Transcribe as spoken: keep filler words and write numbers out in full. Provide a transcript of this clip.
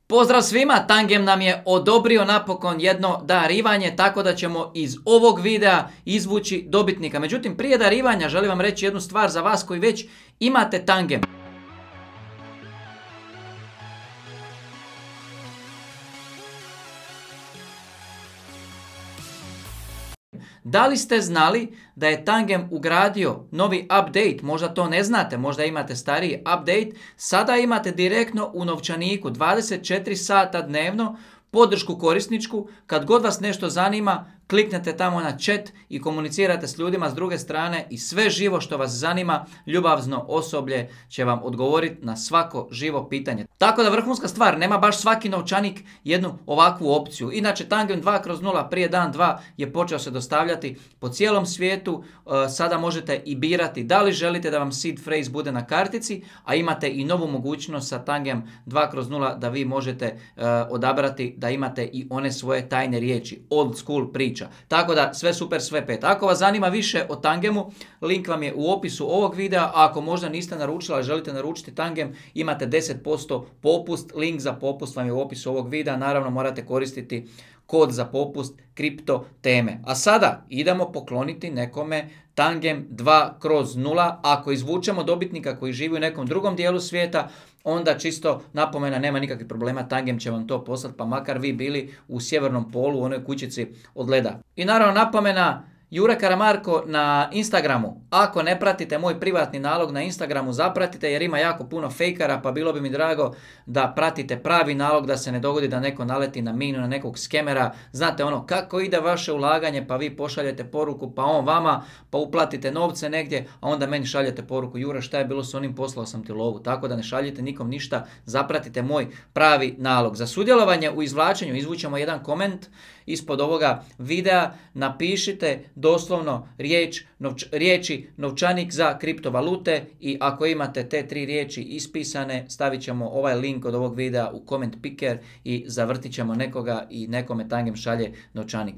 Pozdrav svima, Tangem nam je odobrio napokon jedno darivanje, tako da ćemo iz ovog videa izvući dobitnika. Međutim, prije darivanja želim vam reći jednu stvar za vas koji već imate Tangem. Da li ste znali da je Tangem ugradio novi update? Možda to ne znate, možda imate stariji update. Sada imate direktno u novčaniku dvadeset četiri sata dnevno podršku korisničku. Kad god vas nešto zanima, kliknete tamo na chat i komunicirate s ljudima s druge strane i sve živo što vas zanima, ljubavno osoblje će vam odgovoriti na svako živo pitanje. Tako da vrhunska stvar, nema baš svaki novčanik jednu ovakvu opciju. Inače, Tangem dva kroz nula prije dan dva je počeo se dostavljati po cijelom svijetu. Sada možete i birati da li želite da vam seed phrase bude na kartici, a imate i novu mogućnost sa Tangem dva kroz nula da vi možete odabrati da imate i one svoje tajne riječi, old school priča. Tako da sve super, sve pet. Ako vas zanima više o Tangemu, link vam je u opisu ovog videa, a ako možda niste naručili, ali želite naručiti Tangem, imate deset posto popust, link za popust vam je u opisu ovog videa, naravno morate koristiti kod za popust kripto teme. A sada idemo pokloniti nekome Tangem dva kroz nula. Ako izvučemo dobitnika koji živi u nekom drugom dijelu svijeta, onda čisto napomena, nema nikakvih problema, Tangem će vam to poslati, pa makar vi bili u sjevernom polu, u onoj kućici od leda. I naravno napomena, Jure Karamarko na Instagramu. Ako ne pratite moj privatni nalog na Instagramu, zapratite jer ima jako puno fejkara, pa bilo bi mi drago da pratite pravi nalog, da se ne dogodi da neko naleti na minu, na nekog skemera. Znate ono, kako ide vaše ulaganje, pa vi pošaljete poruku, pa on vama, pa uplatite novce negdje, a onda meni šaljete poruku, Jure, šta je bilo s onim, poslao sam ti lovu. Tako da ne šaljite nikom ništa, zapratite moj pravi nalog. Za sudjelovanje u izvlačenju izvućemo jedan koment ispod ovoga videa, napišite doslovno riječ, novč, riječi novčanik za kriptovalute i ako imate te tri riječi ispisane, stavit ćemo ovaj link od ovog videa u comment picker i zavrtit ćemo nekoga i nekome Tangem šalje novčanik.